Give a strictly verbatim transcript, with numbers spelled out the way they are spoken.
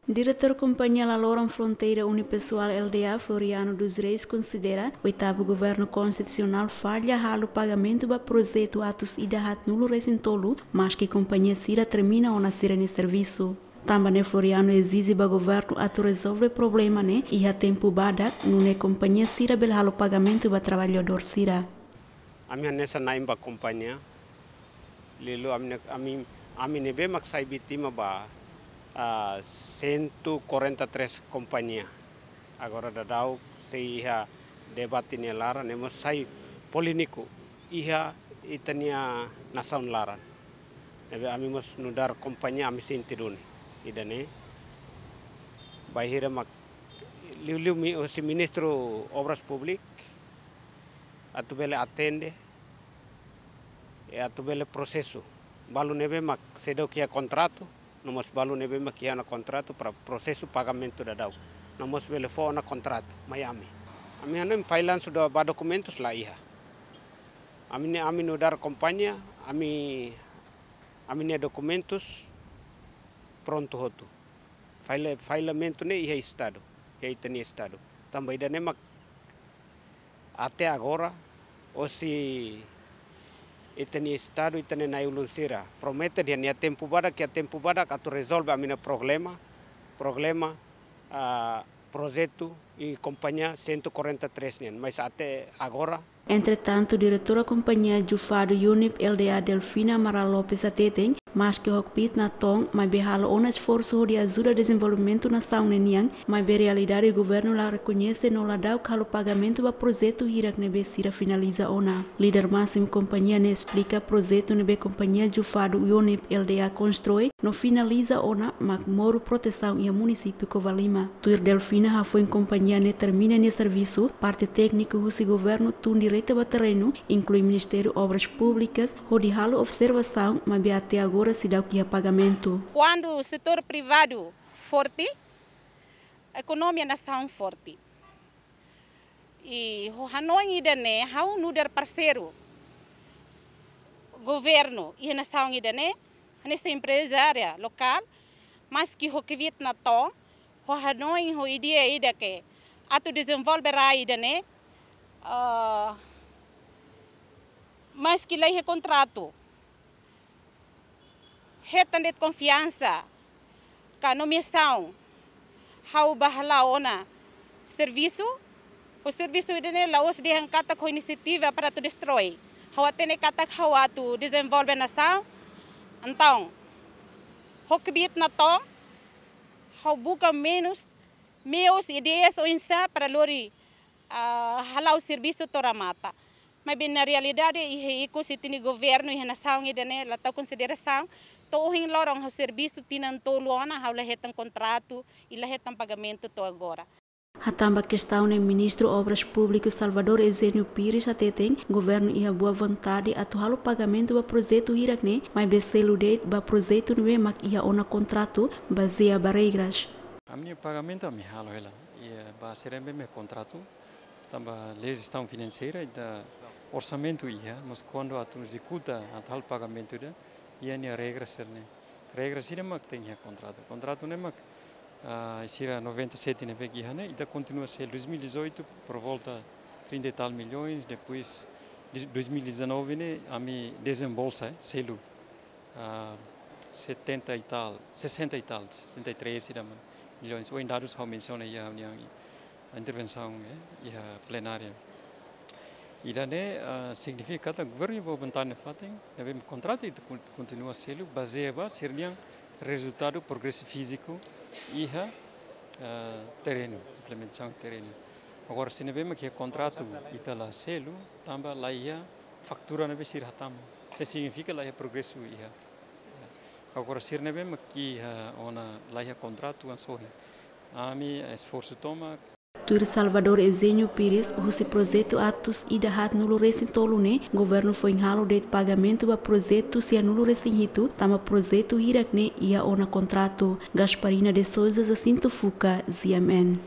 Diretór Kompañia Laloran Fronteira Unipessoal L D A, Floriano dos Reis, konsidera oitavu Governu Konstitusionál falla halo pagamentu ba projetu atus ida haatnulu resin tolu, maski kompañia sira termina ona sira-nia servisu. Tanba ne'e Floriano ezije ba governu atu rezolve problema ne'e iha tempu badak, nune'e kompañia sira bele halo pagamentu ba traballadór sira. Ami hanesan na'in ba kompañia, liuliu ami ne-, ami, ami ne'ebé mak sai vítima ba, ah, cento e quarenta e três kompañia. Agora daudaun sei iha debate nia laran, ne'e mós sai polémiku iha ita-nia nasaun laran. Ne'ebé ami mós nu'udar kompañia ami sente duni. Ida-ne'e, bainhira mak liuliu mi-, husi Ministru Obras Públikas, atu bele atende, i atu bele prosesu balu ne'ebé mak seidauk iha kontratu, no mós balu ne'ebé mak iha ona kontratu para prosesu pagamentu daudaun, no mós bele fó ona kontratu mai ami. Ami hanoin file sudah ba dokumentus la iha. Ami ne'e, ami nu'udar kompañia, ami, ami-nia dokumentus prontu hotu. File, failementu ne'e iha Estadu, iha ita-nia Estadu. Tanba ida-ne'e mak até agora, hosi ita-nia Estadu, ita-nia na'i-ulun sira promete dehan iha tempu badak, iha tempu badak atu rezolve ami-nia problema, problema, ah, projetu i kompañia cento e quarenta e três nian, mas até agora. Entretantu, diretora kompañia Jufadu UNIP L D A, Delfina Amaral Lopes, hateten, maski ho kbiit-natoon, maibé halo ona esforsu hodi ajuda dezenvolvimentu nasaun ne'e nian, maibé realidade governu la rekoñese no ladauk halo pagamentu ba projetu hirak ne'ebé sira finaliza ona. Líder másimu kompañia ne'e esplika projetu ne'ebé kompañia Jufadu UNIP L D A konstrui no finaliza ona mak moru protesaun iha munisípiu Covalima. Tuir Delfina, hafoin kompañia ne'e termina nia servisu, parte tékniku husi governu tun direta ba terrenu, inklui Ministériu Obras Públikas, hodi halo observasaun, maibé até agora seidauk iha pagamentu. Kuandu setór privadu forte, ekonomia nasaun forte. I ho hanoin ida-ne'e, ha'u nu'udar parseiru governu iha nasaun ida-ne'e, hanesan emprezária lokál, maski ho kbiit-natoon, ho hanoin, ho ideia ida ke atu dezenvolve rai ida-ne'e, ah, maski la iha kontratu, hetan de'it konfiansa ka nomeasaun, ha'u bá hala'o ona servisu, ho servisu ida-ne'e la'ós dehan katak ho inisiativa para atu destrói. Ha'u hatene katak ha'u atu dezenvolve nasaun. Entaun, ho kbiit-natoon, ha'u buka meius, meius, ideias oinsá para lori, ah, hala'o servisu to'o remata. Maibé na realidade, iha ikus ita-nia governu, iha nasaun ida-ne'e la tau konsiderasaun. To'o ohin loron ha'u servisu tinan tolu ona, ha'u la hetan kontratu i la hetan pagamentu to'o agora. Hatán ba kestaun ne'e, Ministru Obras Públikas Salvador Eugênio Pires hateten, governu iha boa vontade atu halo pagamentu ba projetu hirak ne'e, maibé selu de'it ba projetu ne'ebé mak iha ona kontratu, bazeia ba regras. Ami-nia pagamentu ami halo hela, i, eh, ba sira ne'ebé mak kontratu, tanba lei jestaun finanseira, ita orsamentu iha, mas kuandu atu ezekuta, atu halo pagamentu ida, iha nia regras sira-ne'e. Regras sira mak tenke iha kontratu. Kontratu ne'e mak, ah, sira noventa e sete ne'ebé iha ne'e, ita kontinua selu dois mil e dezoito, por volta trinta e tal milhões, depois de dois mil e dezanove ne'e, ami dezembolsa, eh, selu, ah, setenta e tal, sessenta e tal, sessenta e três sira milhões. Ohin dadus ha'u mensiona iha reuniaun, intervensaun, eh, iha plenária. Ida-ne'e, ah, signifika katak governu iha boa vontade nafatin, ne'ebé kontratu ita kon-, kontinua selu, bazeia ba sira-nia rezultadu progresu fíziku iha, ah, terrenu, implementasaun terrenu. Agora, se ne'ebé mak iha kontratu ita la selu, tanba la iha faktura ne'ebé sira hatama. Se signifika la iha progresu iha. Agora, sira ne'ebé mak iha ona la iha kontratu, ansohi. Ami esforsu tomak. Tuir Salvador Eugênio Pires, husi projetu atus ida haatnulu resin tolu ne'e, governu foin halo de'it pagamentu ba projetu sianulu resin hitu, tanba projetu hirak ne'e iha ona kontratu. Gasparina de Sousa, Jacinto Fuca, G M N.